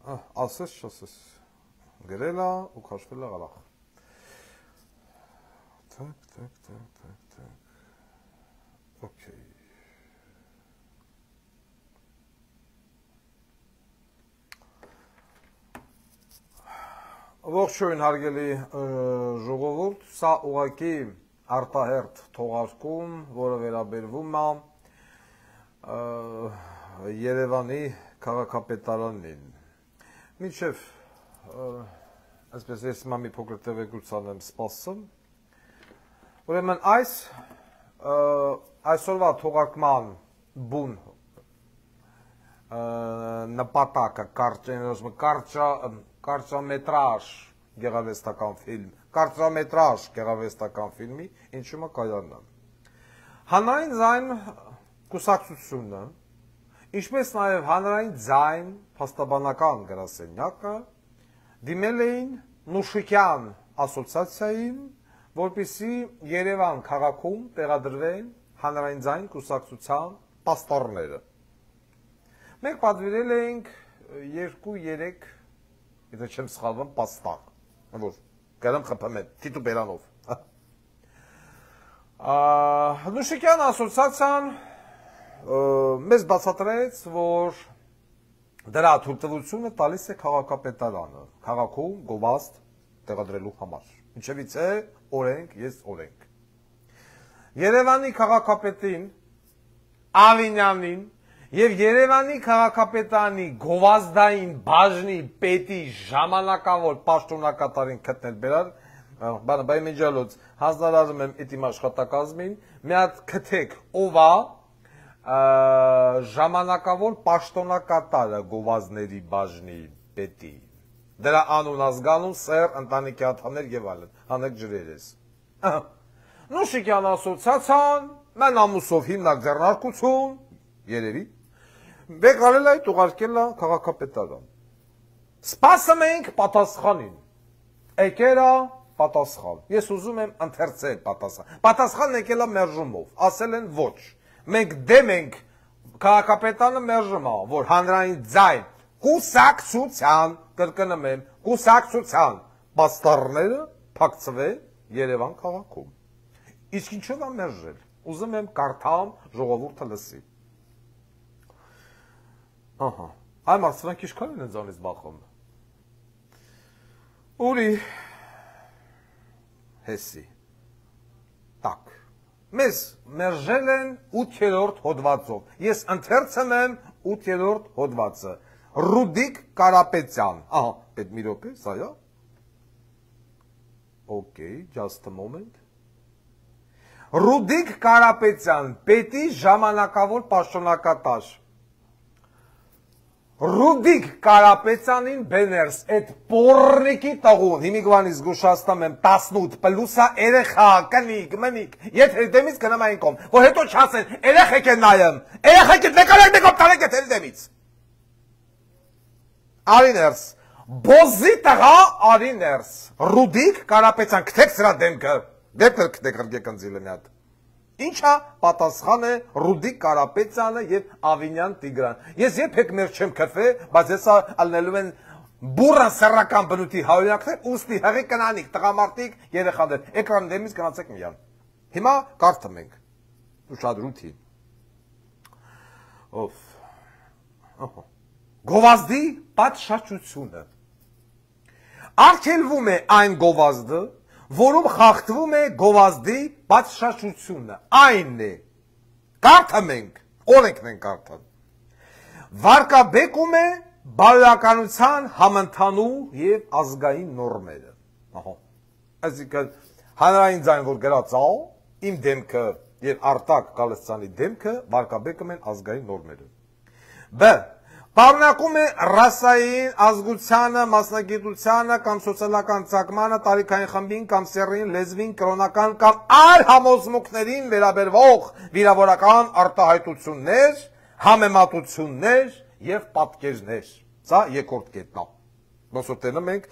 ասես չասես, գրել է ու քաշվել է գալախ, թակ, օքեյ, ողջույն հարգելի ժողովուրդ, սա ուղղակի արտահերթ թողարկում, որը վերաբերվում է Երևանի քաղաքապետարանին։ Մինչև այսպես ես մի փոքր տևեկության եմ սպասում։ Ուրեմն այսօրվա թողարկման բուն նպատակը կարճամետրաժ գեղարվեստական ֆիլմի ինչու՞մ է կայանն։ Հանրային ձայն կուսակցությունը, ինչպես նաև հանրային ձայն փաստաբանական գրասենյակը դիմել էին Նուշիկյան ասոցիացիային, որպեսզի Երևան քաղաքում տեղադրվեն հանրային ձայն կուսակցության պաստառները։ Մենք պատվիրել էինք 2-3, եթե չեմ սխալվում, պաստառ, որ գարամ խփեմ եմ, թիտուբերանով։ Նուշիկյան ասոցիացիան մեզ բացատրեց, որ դրա թույլտվությունը տալիս է քաղաքապետարանը, քաղաքում գովազդ տեղադրելու համար։ Ինչևից է օրենք, ես օրենք։ Երևանի քաղաքապետին, Ավինյանին և Երևանի քաղաքապետանի գովազդային բաժնի պետի ժամանակավոր պաշտոնակատարին գտնել բերար, բայ մեջալոց հանձնարարում եմ իմ աշխատակազմին, մի հատ քթեք ով է ժամանակավոր պաշտոնակատարը գովազդների բաժնի պետի։ Դրա անուն ազգանուն, սեր, ընտանիքի անդամներ եւ այլն, հանեք ջրերես։ Նուշիկյան ասոցիացիան, մեն ամուսով հիմնակ ձեռնարկություն, երևի, վեկարել այդ ուղարկել է քաղաքապետարան։ Սպասում ենք պատասխանին։ Եկել է պատասխան։ Ես ուզում եմ ընթերցել պատասխան։ Պատասխանն եկել է մերժումով, ասել են ոչ։ Մենք դեմ ենք քաղաքապետարանը մերժում է, որ հանրային ձայն կուսակցության, կրկնում եմ, կուսակցության պաստառները փակցվեն Երևան քաղաքում։ Իսկ ինչով է մերժել։ Ուզում եմ կարդամ, ժողովուրդը լսի։ Ահա, այ մարդիկ ինչքան են ինձանից բախում։ Ուրի հեսի։ Так։ Մեզ մերժել են 8-րդ հոդվածով։ Ես ընթերցում եմ 8-րդ հոդվածը։ Ռուդիկ Կարապետյան։ Ահա, այդ մի րոպե, սա է։ Okay, just a moment։ Ռուդիկ Կարապետյան, պետի ժամանակավոր պաշտոնակատար։ Ռուդիկ Կարապետյանին բեներս, այդ պորնիկի տաղուն, հիմիկվանից զգուշացնում եմ 18 պլուսա երեխա, կնիկ, մնիկ, եթե դեմից կնամ այն կոմ, որ հետո չասեն, երեխեք են նայեմ, երեխեք են մեկով տարեք է թերի դեմից։ Արիներս, բոզի տղա արիներս, Ռուդիկ Կարապետյան, կթեք սրա դեմքը, դեպքեր կթեք հրգեք ընձիլը մի հատ։ Ինչա պատասխան է Ռուդիկ Կարապետյանը և Ավինյան Տիգրան։ Ես երբեք մեր չեմ քրվե, բայց ես ալնելու են բուրան սեռական բնույթի հայրենիքներ, ուստի հեղի կնանիք, տղամարդիկ, երեխաներ, էկրանի դեմից գնացեք միան։ Հիմա կարդում ենք, ուշադրություն։ Գովազդի պատշաճությունը։ Արգելվում է այն գովազդը, որում խախտվում է գովազդի պատշաճությունը, այն է, կարդում ենք, օրենքն են կարդում, վարկաբեկում է բարոյականության համընդհանուր և ազգային նորմերը, այսինքն հանրային ձայն, որ գրած ա, իմ դեմքը և Արտակ Գալստյանի դեմքը վարկաբեկում են ազգային նորմերը, բ. Պարունակում է ռասային, ազգությանը, մասնագիտությանը կամ սոցիալական ծագմանը, տարիքային խմբին կամ սեռին, լեզվին, կրոնական կամ այլ համոզմունքներին վերաբերվող վիրավորական արտահայտություններ, համեմատություններ և պատկերներ։ Սա երկրորդ կետն է։ Ոսոտենում ենք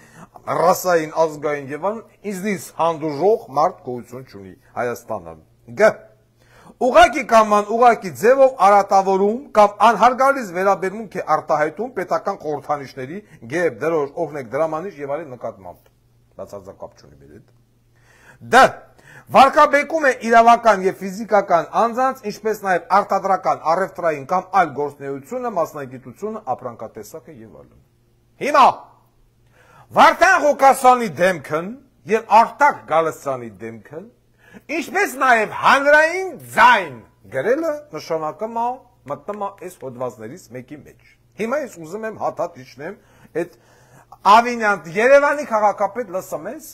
ռասային, ազգային եւ այլն ինձնից հանդուրժող մարդ գոյություն չունի Հայաստանը։ Գ. ուղակի կամ անուղակի ձևով արատավորում կամ անհարգալից վերաբերմունք է արտահայտում պետական խորհրդանիշների, գեբ, դրոշ, օրհնեք, դրամանիշ եւ այլն նկատմամբ։ Բացարձակ չունի մեր հետ։ Դ. Վարկաբեկում է իրավական եւ ֆիզիկական անձանց, ինչպես նաեւ արտադրական, առևտրային կամ այլ գործունեությունը, մասնագիտությունը, ապրանքատեսակը եւ այլն։ Հիմա Վարդան Ղուկասյանի դեմքն եւ Արտակ Գալստյանի դեմքն, ինչպես նաեւ հանրային ձայն գրելը նշանակում է մտնում է այս հոդվածներից մեկի մեջ։ Հիմա ես ուզում եմ հատատ իջնեմ այդ Ավինյան Երևանի քաղաքապետ լսում ես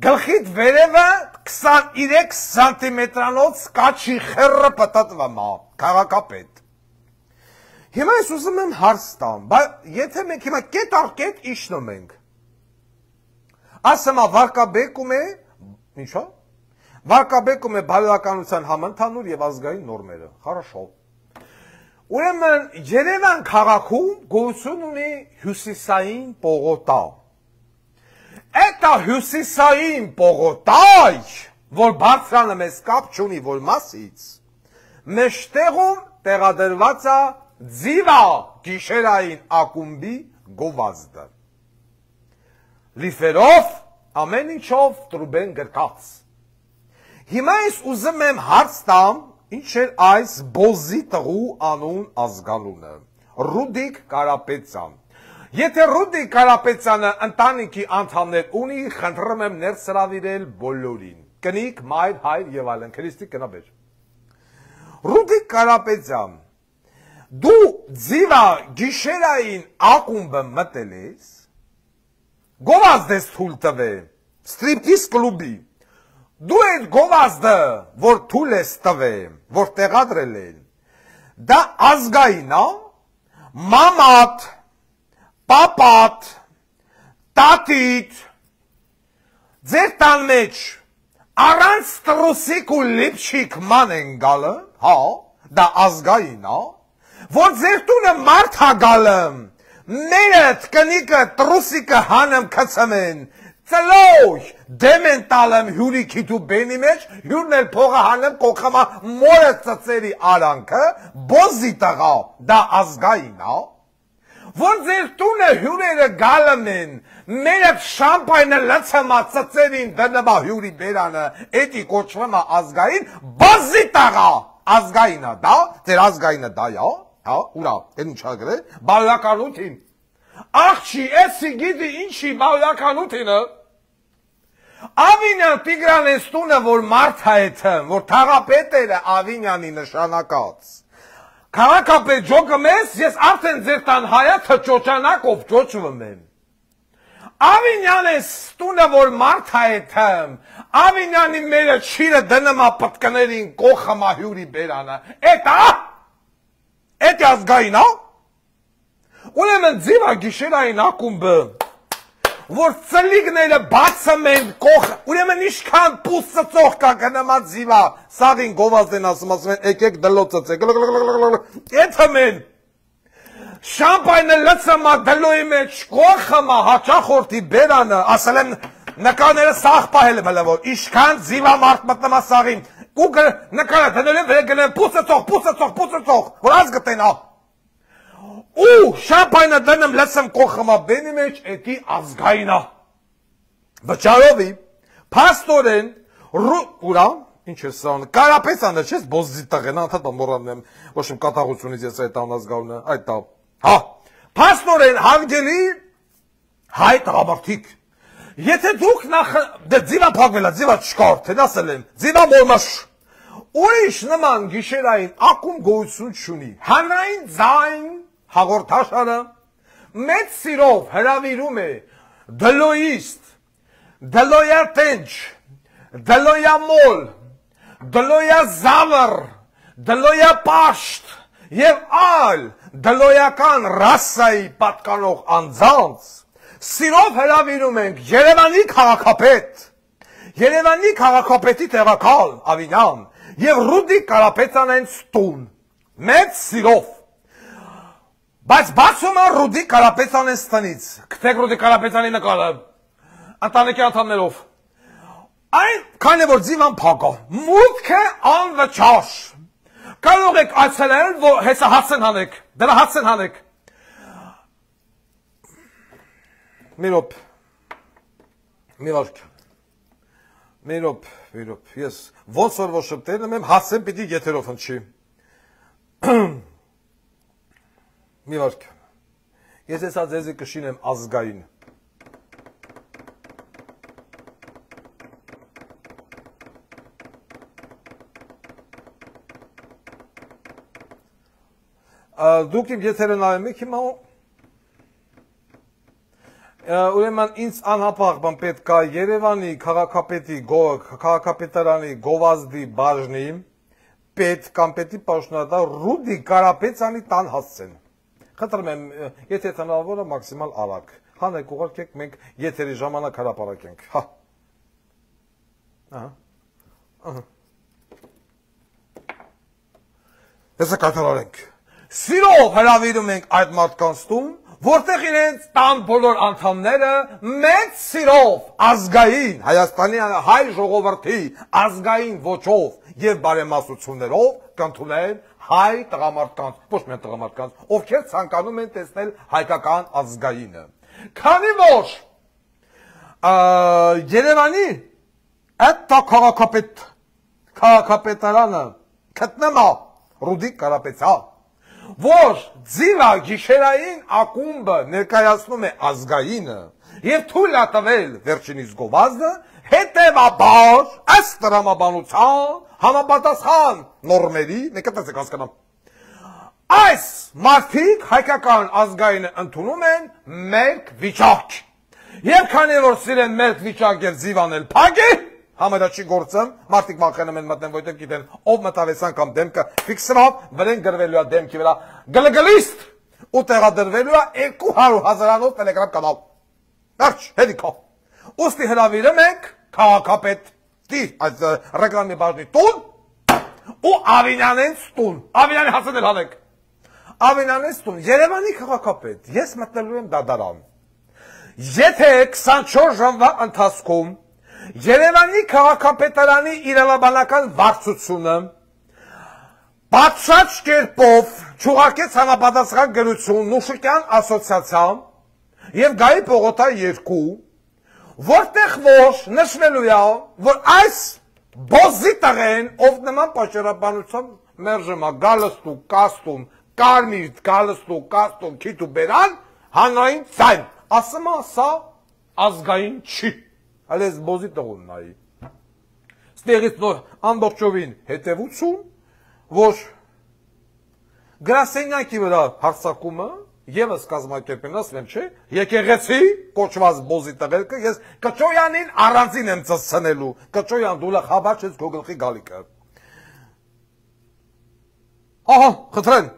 գլխիդ վերևը 23 սանտիմետրանոց կաչի խերը պտտվում է քաղաքապետ։ Հիմա ես ուզում եմ հարց տամ, բայց եթե մենք հիմա կետ առ կետ իջնում ենք, ասում է վարկաբեկում է, ինչա՞, վարկաբեկում է բարոյականության համընդհանուր եւ ազգային նորմերը։ Хорошо։ Ուրեմն Երևան քաղաքում գոյություն ունի հյուսիսային պողոտա։ Էտա հյուսիսային պողոտայ, որ բարձրանը մեզ կապ չունի, որ մասից, մեջտեղում տեղադրված է ձիվա գիշերային ակումբի գովազդը։ Լիֆերով, ամեն ինչով տրուբեն գրկած։ Հիմա ես ուզում եմ հարց տամ, ինչ էր այս բոզի տղու անուն ազգանունը, Ռուդիկ Կարապետյան։ Եթե Ռուդիկ Կարապետյանը ընտանիքի անդամներ ունի, խնդրում եմ ներս հրավիրել բոլորին, կնիկ, մայր, հայր եւ այլն, քրիստի կնաբեր։ Ռուդիկ Կարապետյան, դու ձիվա գիշերային ակումբը մտել ես, գովազդ ես թույլ տվել, ստրիպտիզ կլուբի, դու այդ գովազդը, որ թույլ ես տվել, որ տեղադրել են, դա ազգային է, մամատ, պապատ, տատիտ, ձեր տան մեջ առանց տրուսիկ ու լիպչիկ ման են գալը, հա, դա ազգային է, որ ձեր տունը մարդ հա գալը, մերդ կնիկը տրուսիկը հանեմ կծմեն, ծլոյ դեմ են տալեմ հյուրի քիթու բենի մեջ, հյուրն էլ փողը հանեմ կողքամա մորը ծծերի արանքը, բոզի տղա, դա ազգային է, որ ձեր տունը հյուրերը գալում են, մերդ շամպայնը լցմա ծծերին դնմա հյուրի բերանը, էտի կոչվում է ազգային, բոզի տղա, ազգայինը դա, ձեր ազգայինը դա յա, հա, ուրա, են ինչա գրե, բարոյականություն, աղջի, էսի գիտի ինչի բարոյականությունը, Ավինյան Տիգրանես տունը, որ մարդ հայթն, որ թաղապետերը Ավինյանի նշանակած, Քաղաքապետ ջոկում ես, ես արդեն ձեր տան հայա թճոճանակով ջոճվում եմ։ Ավինյանես տունը, որ մարդ հայթն, Ավինյանի մերը չիրը դնմա պտկներին կողմա հյուրի բերանը, էտ ազգային, հա? Ուրեմն ձիվա գիշերային ակումբը, որ ծլիգները բացում են կողը, ուրեմն իշքան պուս ծծող կա կնամա ձիվա, սաղին գովազդ են ասում են, եկեք դլո ծծեք, էթում են, շամպայնը լծմա դլոյի մեջ կողմա հաճախորդի բերանը, ասել են նկաները սաղ պահել եմ հլվոր, իշքան ձիվա մարդ մտնմա սաղին, ու նկանը դնել են վեր գնեն պուս ծծող, որ ազ գտեն ա, ու շամպայնը դնեմ լծեմ կողմա բենի մեջ, էտի ազգայինա, վճարովի, պաստորեն, ուրա, ինչ է սան, Կարապետյանը չես բոզի տղեն, անդատ մորանն եմ, ոչ իմ կատաղությունից ես այդ անազգավնը, այդ տավ, հա, պաստորեն հարգելի հայ տղամարդիկ, եթե դուք նախ, դե ձիվա պագվել է, ձիվա չկար, թեն ասել եմ, ձիվա մորմաշ, ուրիշ նման գիշերային ակում գոյություն չունի, հանրային ձայն, հաղորդաշարը մեծ սիրով հրավիրում է դլոյիստ, դլոյատենչ, դլոյամոլ, դլոյազավր, դլոյապաշտ և այլ դլոյական ռասայի պատկանող անձանց սիրով հրավիրում ենք Երևանի քաղաքապետ, Երևանի քաղաքապետի տեղակալ Ավինյան և Ռուդիկ Կարապետյանեն տուն, մեծ սիրով Բայց բացում է Ռուդիկ Կարապետյանեն ստնից, կտեք Ռուդիկ Կարապետյանի նկարը, ընտանիքի անդամներով, այն քանի որ ձիվան փակա, մուտքը անվճար, Կարող եք այցելել, որ հեսա հացեն հանեք, դրա հացեն հանեք։ Միրոպ, ես ոնց որ որ շպտել եմ, հացեն պիտի եթերով հնչի։ Մի վարք, ես հեսա ձեզի կշինեմ ազգային։ Դուք իմ եթերը նայում եք հիմա ուրեմն ինձ անհապաղ բան պետք է Երևանի քաղաքապետարանի գովազդի բաժնի պետ կամ պետի պաշտոնատար Ռուդի Կարապետյանի տան հասցեն։ Խնդրում եմ, եթե հնարավոր է մաքսիմալ արագ։ Հանեք ուղարկեք, մենք եթերի ժամանակ հրապարակենք։ Հա։ Հեսա կատարենք։ Սիրով հրավիրում ենք այդ մարդկանց տուն, որտեղ իրենց տան բոլոր անդամները մեծ սիրով ազգային Հայաստանի հայ ժողովրդի ազգային ոճով եւ բարեմասություններով կընդունեն հայ տղամարդկանց, ոչ միայն տղամարդկանց, ովքեր ցանկանում են տեսնել հայկական ազգայինը։ Քանի որ Երևանի այդ քաղաքապետարանը գտնվում է Ռուդի Կարապետյան, որ ձիվա գիշերային ակումբը ներկայացնում է ազգայինը եւ թույլ է տվել վերջինիս գովազդը, հետեւաբար ըստ տրամաբանության համապատասխան նորմերի, մեկ տեսեք հասկանամ, այս մարդիկ հայկական ազգայինը ընդունում են մերկ վիճակ եւ քանի որ սիրեն մերկ վիճակ եւ ձիվանել փագի Համարաչի գործը, մարդիկ վախենում են մտնեն, որտեղ գիտեն, ով մտավեսան կամ դեմքը ֆիքսրավ, վրեն գրվելու է դեմքի վրա գլգլիստ ու տեղադրվելու է 200,000-անով տելեգրամ կանալ։ Վերջ, հետիքո։ Ուստի հրավիրում ենք քաղաքապետի այդ ռեկլամի բաժնի տուն ու Ավինյանենց տուն։ Ավինյանի հասնել հանեք։ Ավինյանենց տուն, Երևանի քաղաքապետ, ես մտնելու եմ դատարան։ Եթե 24 ժամվա ընթացքում Երևանի քաղաքապետարանի իրավաբանական վարչությունը բացած կերպով չուղարկեց համապատասխան գրություն Նուշիկյան ասոցիացիան եւ Գայի Պողոտա 2, որտեղ որ նշվելու է, որ այս բոզի տղեն, ով նման պատճառաբանությամբ մերժում է գալստու, կաստում, կարմիր գալստու, կաստում, քիթ ու բերան, հանրային ցայն, ասում է սա ազգային չի։ Ալես բոզի տղուն նայի։ Ստեղից նոր ամբողջովին հետևություն, որ գրասենյակի վրա հարձակումը եւս կազմակերպեն, ասում եմ, չէ, եկեղեցի կոչված բոզի տղերքը, ես Կճոյանին առանձին եմ ծծցնելու, Կճոյան դու լա խաբար չես քո գլխի գալիքը։ Ահա, խնդրեմ,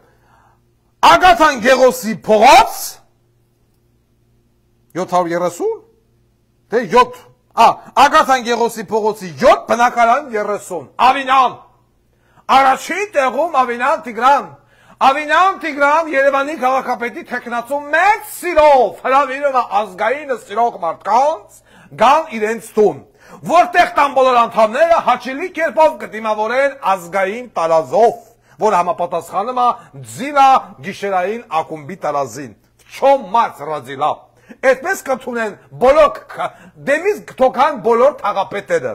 Ագաթան Գեղոսի փողոց 730, թե 7 Ագաթան Գեղոսի փողոցի 7 բնակարան 30 Ավինյան առաջին տեղում Ավինյան Տիգրան Երևանի քաղաքապետի թեկնածու մեծ սիրով հրավիրում է ազգայինը սիրող մարդկանց գան իրենց տուն որտեղ տան բոլոր անդամները հաճելի կերպով կդիմավորեն ազգային տարազով որ համապատասխանում է ձիվա գիշերային ակումբի տարազին չոմ մարդ ռադիլա Այդպես կընդունեն բոլոր դեմից կթոքան բոլոր թաղապետերը,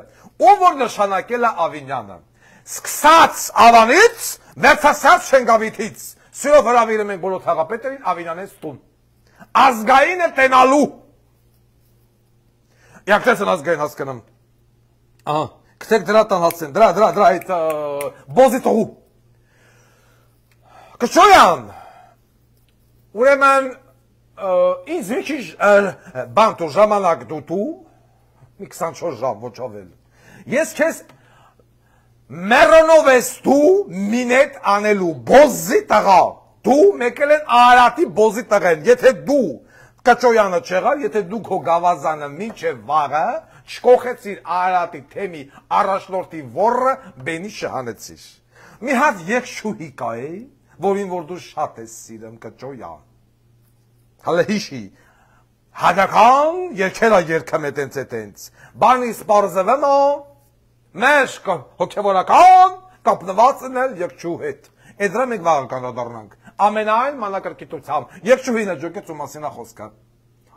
ով որ նշանակել է Ավինյանը։ Սկսած Ավանից, վերջացած Շենգավիթից, սիրով հրավիրում ենք բոլոր թաղապետերին Ավինյանից տուն։ Ազգայինը տենալու։ Յակտեսն ազգային հասկանում։ Ահա, կտեք դրա տան հասցեն, դրա այդ բոզի տողու։ Կճոյան, ուրեմն ինձ մի քիչ բան տու ժամանակ դու մի 24 ժամ ոչ ավել ես քեզ մերոնով ես դու մինետ անելու բոզի տղա դու մեկել են Արարատի բոզի տղեն եթե դու Կճոյանը չեղար եթե դու քո գավազանը մինչև վաղը չկոխեցիր Արարատի թեմի առաջնորդի ոռը բենի շահանեցիր մի հատ երկշուհի կա է որին որ դու շատ ես սիրում Կճոյան Հալը հիշի, հադական երկելա երկեմ էտենց, բանի սպարզվեմ է, մեշ հոգևորական, կապնված են էլ երկչու հետ։ Այդ դրա մենք վաղ կանադառնանք։ Ամենայն մանրակրկիտությամբ երկչուհին է ջոկեց ու մասին է խոսքը։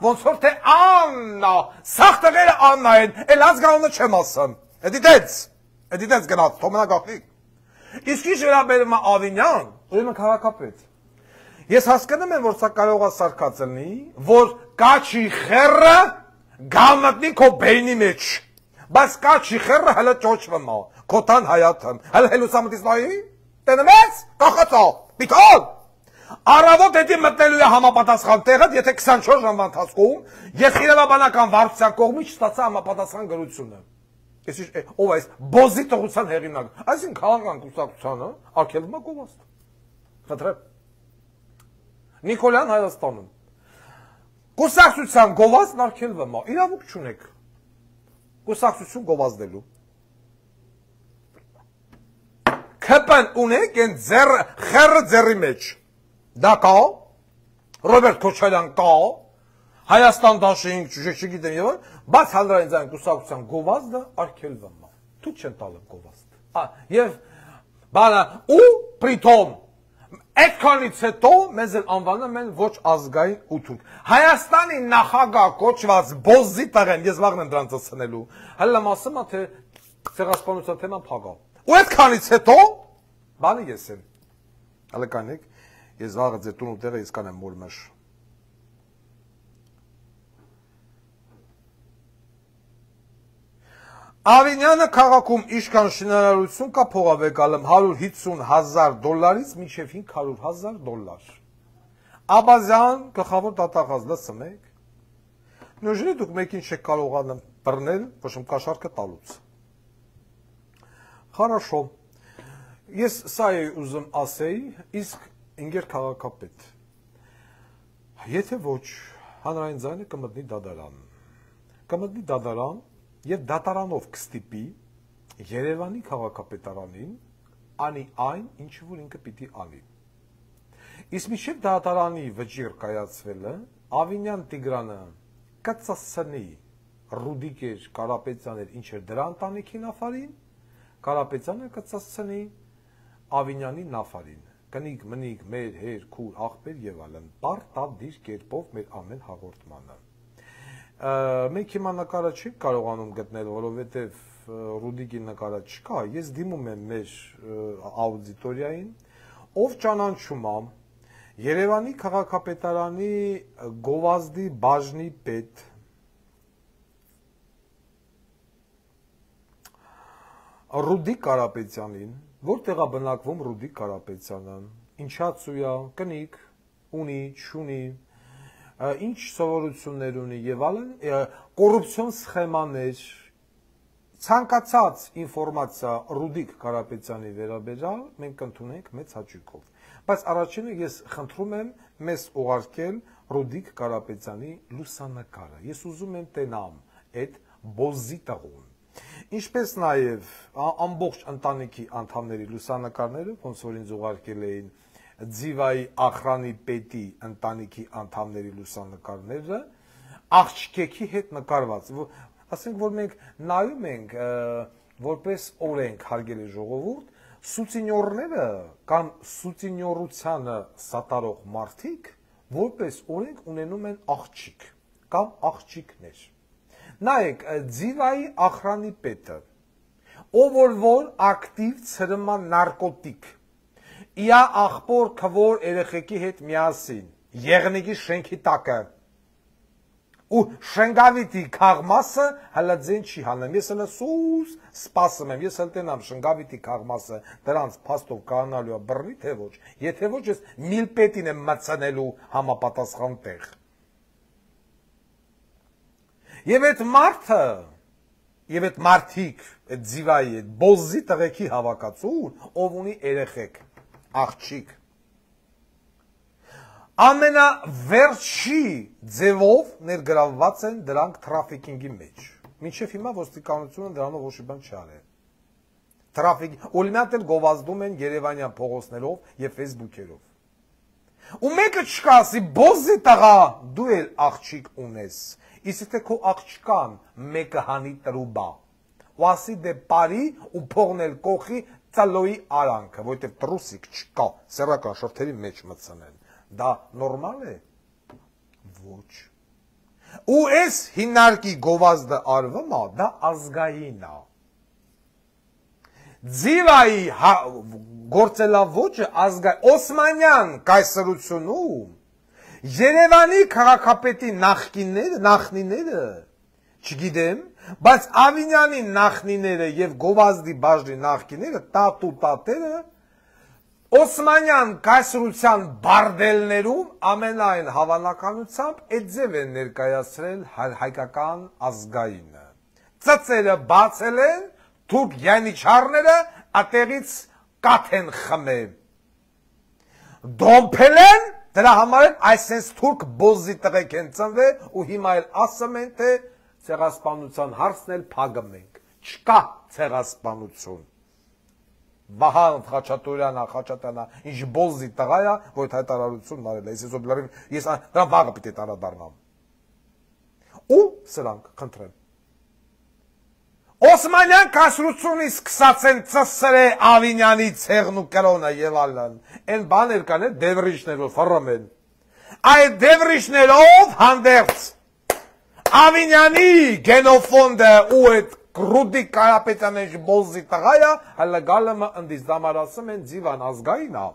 Ոնց որ թե Աննա, սաղ տղերը Աննա են, էլ ազգանունը չեմ ասում։ Էդիտենց գնաց, թոմենա գաղտնիք։ Իսկ ինչ վերաբերում է Ավինյան, ուրեմն քաղաքապետ։ Ես հասկանում եմ, որ սա կարող է սարքած լինի, որ կաչի խեռը գամտնի քո բեյնի մեջ։ Բայց կաչի խեռը հələ ճոճվում է, քոթան հայաթն, հələ հելուսամտից նայի, տենեմ ես, կախացա, պիտալ։ Առավոտ հետի մտնելու է համապատասխան տեղը, եթե 24 ժամվա ընթացքում ես իրավաբանական վարչության կողմից չստացա համապատասխան գրությունը։ Ով այս բոզի տղության հեղինակ, այսինքն քաղաքական կուսակցությանը արգելվում է գովազդ։ Խնդրեմ։ Նիկոլյան Հայաստանում։ Կուսակցության գովազդն արգելվում է, իրավունք չունեք։ Կուսակցություն գովազդելու։ Քպն ունեք այն խեռը ձեռի մեջ։ Դա կա, Ռոբերտ Քոչարյան կա, Հայաստան դաշինք, չգիտեմ եւ այլն, բայց հանրային կուսակցության գովազդը արգելվում է։ Դու չեն տալը գովազդ։ Եվ բանը ու պրիտոմ այդքանից հետո մեզ էլ անվանում են ոչ ազգային ու թուրք։ Հայաստանի նախագահ կոչված բոզի տղեն, ես վաղն եմ դրանց ասնելու, հələ ասում է թե ցեղասպանության թեման փագա։ Ու այդքանից հետո բանը ես եմ։ Հələ կանեք, ես վաղը ձեր տուն ու տեղը ես կանեմ մորմաշ։ Ավինյանը քաղաքում իշքան շինարարություն կա փողավեկալում $150,000-ից մինչև $500,000։ Աբազյան գլխավոր դատախազ լսում եք։ Նույնիսկ դուք մեկին չեք կարողանում բռնել, ոչ իմ կաշառքը տալուց։ Хорошо։ Ես սա էի ուզում ասեի, իսկ ինգեր քաղաքապետ։ Եթե ոչ, հանրային ձայնը կմտնի դատարան։ Կմտնի դատարան եւ դատարանով կստիպի Երևանի քաղաքապետարանին անի այն, ինչ որ ինքը պիտի անի։ Իսկ մինչև դատարանի վճիռ կայացվելը Ավինյան Տիգրանը կծասնի Ռուդիկեր Կարապետյաններ ինչ էր դրա ընտանիքի նավարին, Կարապետյանը կծասնի Ավինյանի նավարին։ Կնիկ մնիկ մեր հեր քուր աղբեր եւ այլն պարտադիր կերպով մեր ամեն հաղորդմանը։ Մենք հիմա նկարը չի կարողանում գտնել, որովհետև Ռուդիկի նկարը չկա, ես դիմում եմ մեր աուդիտորիային, ով ճանաչում է Երևանի քաղաքապետարանի գովազդի բաժնի պետ Ռուդիկ Կարապետյանին, որտեղ է բնակվում Ռուդիկ Կարապետյանը, ինչացու է, կնիկ, ունի, չունի, ինչ սովորություններ ունի եւ այլն, կոռուպցիոն սխեմաներ, ցանկացած ինֆորմացիա Ռուդիկ Կարապետյանի վերաբերյալ մենք կընդունենք մեծ հաճույքով։ Բայց առաջինը ես խնդրում եմ մեզ ուղարկել Ռուդիկ Կարապետյանի լուսանկարը։ Ես ուզում եմ տենամ այդ բոզի տղուն։ Ինչպես նաեւ ամբողջ ընտանիքի անդամների լուսանկարները, ոնց որ ինձ ուղարկել էին Ձիվայի ախրանի պետի ընտանիքի անդամների լուսանկարները աղջիկի հետ նկարված, ասենք որ մենք նայում ենք որպես օրենք հարգելի ժողովուրդ, սուցինյորները կամ սուցինյորությանը սատարող մարդիկ որպես օրենք ունենում են աղջիկ կամ աղջիկներ։ Նայեք, Ձիվայի ախրանի պետը, ով որ ակտիվ ցրման նարկոտիկ Իա աղբոր քվոր երեխեքի հետ միասին, եղնիկի շենքի տակը, ու շնգավիտի քաղմասը հələ ձեն չի հանեմ, ես հələ սուս սպասում եմ, ես հəլ տենամ շնգավիտի քաղմասը դրանց փաստով կանալու է բռնի, թե ոչ, եթե ոչ ես միլպետին եմ մցնելու համապատասխան տեղ։ Եվ այդ մարդը, եւ այդ մարդիկ, այդ ձիվայի, այդ բոզի տղեկի հավաքածուն, ով ունի երեխեք աղջիկ ամենավերջի ձևով ներգրավված են դրանք թրաֆիկինգի մեջ։ Մինչև հիմա ոստիկանությունը դրանով ոչ մի բան չարել։ Թրաֆիկ, օրինակ էլ գովազդում են Երևանյան փողոցներով եւ Facebook-երով։ Ու մեկը չկասի, բոզի տղա, դու էլ աղջիկ ունես։ Իսկ թե քո աղջկան մեկը հանի տրուբա։ Ու ասի դե բարի ու փողնել կողի ծալոյի արանքը, որովհետև տրուսիկ չկա, սեռական շրթերի մեջ մտցնեն։ Դա նորմալ է։ Ոչ։ Ու այս հիմնարկի գովազդը արվում է, դա ազգային է։ Ձիվայի գործելավոճը ազգային, Օսմանյան կայսրությունում Երևանի քաղաքապետի նախնիները, չգիտեմ, բայց Ավինյանի նախնիները եւ գովազդի բաժնի նախնիները, տատու տատերը Օսմանյան կայսրության բարդելներում ամենայն հավանականությամբ այդ ձև են ներկայացրել հայկական ազգայինը։ Ծծերը բացել են, թուրք յանիչարները ատեղից կաթ են խմել։ Դոմփել են, դրա համար այսպես թուրք բոզի տղեկ են ծնվել ու հիմա էլ ասում են, թե ցեղասպանության հարցն էլ փակում ենք։ Չկա ցեղասպանություն։ Վահան Խաչատուրյանը, ինչ բոզի տղա է, որ հայտարարությունն արել է, ես դրա վաղը պիտի տարադառնամ։ Ու սրանք, խնդրեմ։ Օսմանյան կայսրությունից սկսած են ծսրե Ավինյանի ցեղն ու կրոնը եւ այլն։ Այն բաներ կան, դևրիչներով ֆռում են։ Այդ դևրիչներով հանդերձ Ավինյանի գենոֆոնդը ու այդ Ռուդիկ Կարապետյանը բոզի տղայա, հələ գալը ընդից դամարասում են ձիվան ազգային է։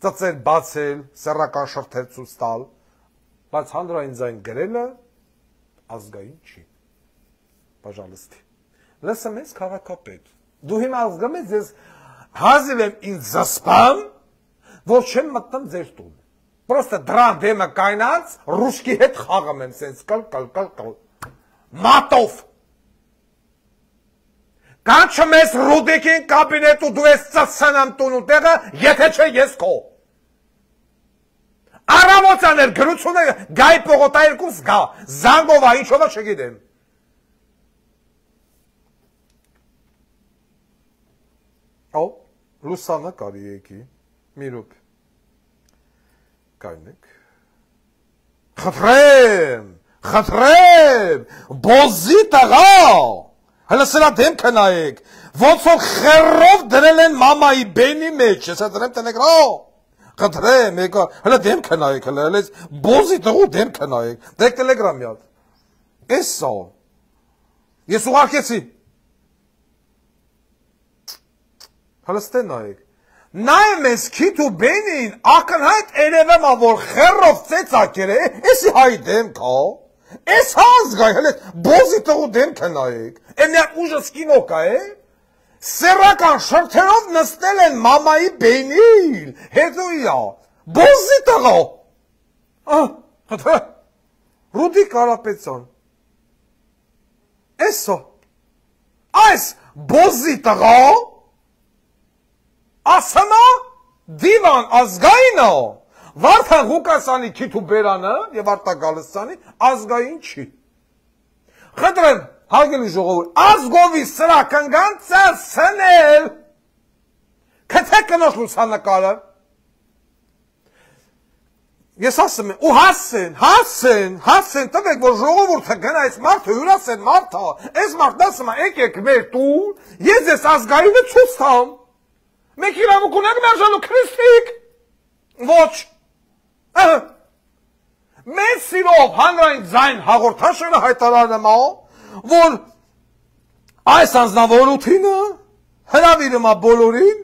Ծծեր բացել, սեռական շրթեր ցույց տալ, բայց հանրային ձայն գրելը ազգային չի։ Пожалуйста։ Լսում ես քաղաքապետ։ Դու հիմա ազգում ես, ես հազիվ եմ ինձ զսպամ, որ չեմ մտնում ձեր տուն։ Պրոստը դրան դեմը կայնած, ռուսկի հետ խաղում եմ, սենց կլ։ Մատով։ Կանչում ես Ռուդիկին կաբինետ ու դու ես ծծանամ տուն ու տեղը, եթե չէ ես քո։ Առավոտյան էր գրությունը գայ պողոտայերկուս գա, զանգովա, ինչովա չգիտեմ։ Ո, լուսանը կարի եկի, մի ռուպ, կայնեք, խտրեմ, բոզի տղա, հլը սրա դեմքը նայեք, ոնց որ խերով դրել են մամայի բենի մեջ, ես դրեմ տենեգրո, խտրեմ, հլը դեմքը նայեք, հլը բոզի տղու դեմքը նայեք, դեք տելեգրամի հատ, ես սա, ես ուղարկեցի, հլստեն նայեք, նայեմ ես քիտ ու բենին, ակնհայտ երևեմ որ խերով ծեծակեր է, եսի հայի դեմք հա, ես հազգայ, հլե բոզի տղու դեմքը նայեք, էմյակ ուժը սկինոկա է, սերական շրթերով նստել են մամայի բենին, հետո իա, բոզի տղա, Ռուդիկ Կարապետյան, էսո, այս բոզի տղա, ասամա դիվան ազգայինը, Վարդան Ղուկասյանի քիթ ու բերանը և Արտագալստյանի ազգային չի։ Խնդրեմ, հարգելի ժողովուրդ, ազգովի սրա կնգանցը սնել, քթեք կնոջ լուսանկարը, ես ասում եմ, ու հասեն, տվեք, որ ժողովուրդը գնա այս մարդը, հյուրասեն մարդը, այս մարդն ասում է, եկեք մեր տուն, ես ես ազգայինը ցույց տամ, մեկ իրավունք ունեք մերժելու քրիստիկ, ոչ, մեծ սիրով հանրային ձայն հաղորդաշարը հայտարարում է, որ այս անձնավորությունը հրավիրում է բոլորին,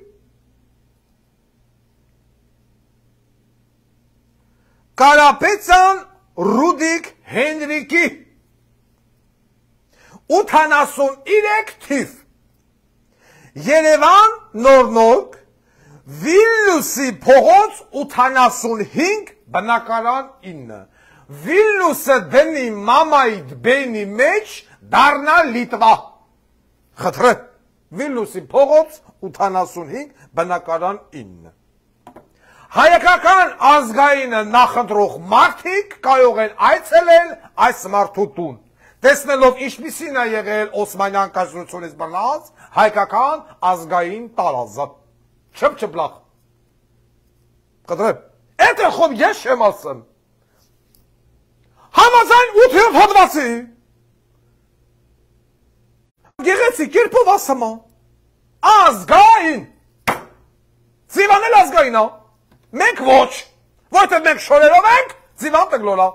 Կարապետյան Ռուդիկ Հենրիկի 83 թիվ Երևան նորնորկ Վիլնյուսի փողոց 85 բնակարան 9 Վիլնյուսը դնի մամայի բենի մեջ դառնա Լիտվա խնդրեմ Վիլնյուսի փողոց 85 բնակարան 9 Հայկական ազգայինը նախընտրող մարդիկ կարող են այցելել այս մարդու տուն տեսնելով ինչպիսին է եղել Օսմանյան կայսրությունից բռնած հայկական ազգային տարածքը չփչփլախ կտրեմ Էդ խոմ ես չեմ ասում Համաձայն 8-րդ հոդվածի գեղեցիկ կերպով ասում Ազգային։ Ձիվանել ազգային է։ Մենք ոչ։ Որտեղ մենք շորերով ենք, ձիվան տգլոլա։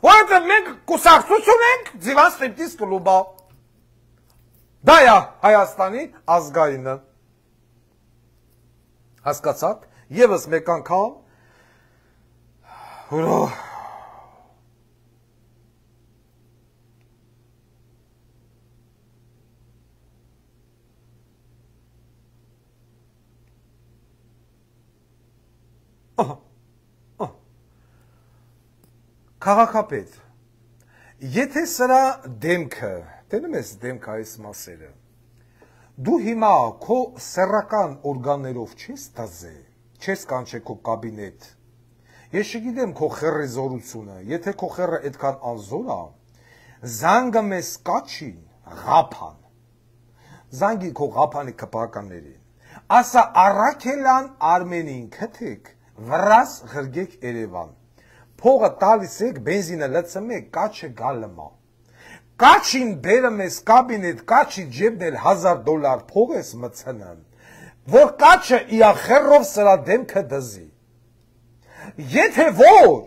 Որտեղ մենք կուսակցություն ենք, ձիվան ստրիպտիզ կլուբա։ Դա է Հայաստանի ազգայինը։ Հասկացաք, եւս մեկ անգամ Քաղաքապետ, եթե սրա դեմքը, տենում ես դեմքը այս մասերը, դու հիմա քո սեռական օրգաններով չես դազե, չես կանչե քո կաբինետ, ես չգիտեմ քո խեռի զորությունը, եթե քո խեռը այդքան անզոր է, զանգը մեզ կաչին, ղափան, զանգի քո ղափանի կպականներին, ասա Առաքելյան Արմենին քթեք, վրաս ղրգեք Երևան, փողը տալիս եք, բենզինը լցմեք, կաչը գալմա, կաչին բերում ես կաբինետ, կաչի ջեբնել $1000 փող ես մցնն, որ կաչը իա խեռով սրա դեմքը դզի, եթե ոչ,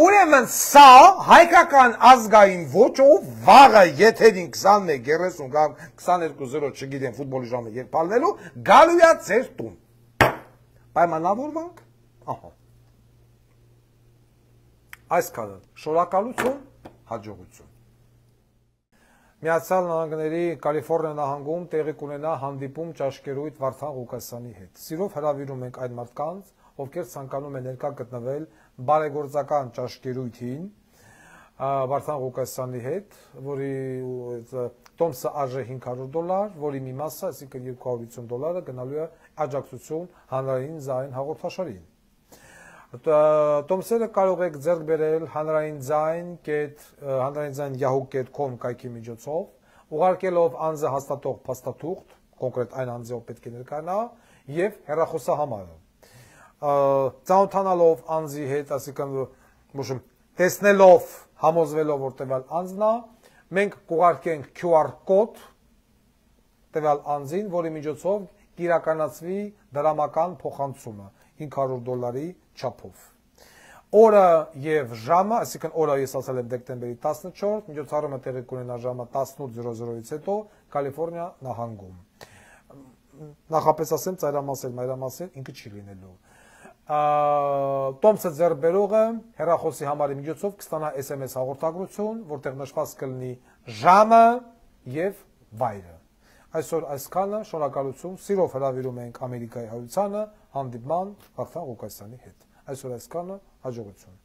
ուրեմն սա հայկական ազգային ոճով վաղը եթերին 21, 30 կամ 22-0 չգիտեմ ֆուտբոլի ժամը երբ պալնելու, գալու է ձեր տուն, պայմանավորվանք, ահա, այսքանը, շնորհակալություն, հաջողություն։ Միացյալ Նահանգների Կալիֆոռնիա նահանգում տեղի կունենա հանդիպում ճաշկերույթ Վարդան Ղուկասյանի հետ։ Սիրով հրավիրում ենք այն մարդկանց, ովքեր ցանկանում են ներկա գտնվել բարեգործական ճաշկերույթին Վարդան Ղուկասյանի հետ, որի տոմսը արժե $500, որի մի մասը, այսինքն $250 գնալու է աջակցություն հանրային ձայն հաղորդաշարին։ Տոմսերը կարող եք ձեռք բերել հանրայինձայն.yahoo.com կայքի միջոցով, ուղարկելով անձը հաստատող փաստաթուղթ, կոնկրետ այն անձը, ով պետք է ներկայանա, եւ հեռախոսահամարը։ Ծանոթանալով անձի հետ, այսինքն տեսնելով, համոզվելով, որ տվյալ անձն է, մենք կուղարկենք QR կոդ տվյալ անձին, որի միջոցով կիրականացվի դրամական փոխանցումը $500 չափով։ Օրը եւ ժամը, այսինքն օրը ես ասել եմ դեկտեմբերի 14, միջոցառումը տեղի կունենա ժամը 18:00-ից հետո Կալիֆոռնիա նահանգում։ Նախապես ասեմ, ծայրամասել, մայրամասել ինքը չի լինելու։ Տոմսը ձեռբերողը հեռախոսի համարի միջոցով կստանա SMS հաղորդագրություն, որտեղ նշված կլինի ժամը եւ վայրը։ Այսօր այսքանը, շնորհակալություն, սիրով հրավիրում ենք Ամերիկայի հայությանը հանդիպման Վարդան Ղուկասյանի հետ։ Այսօր այսքանը, հաջողություն։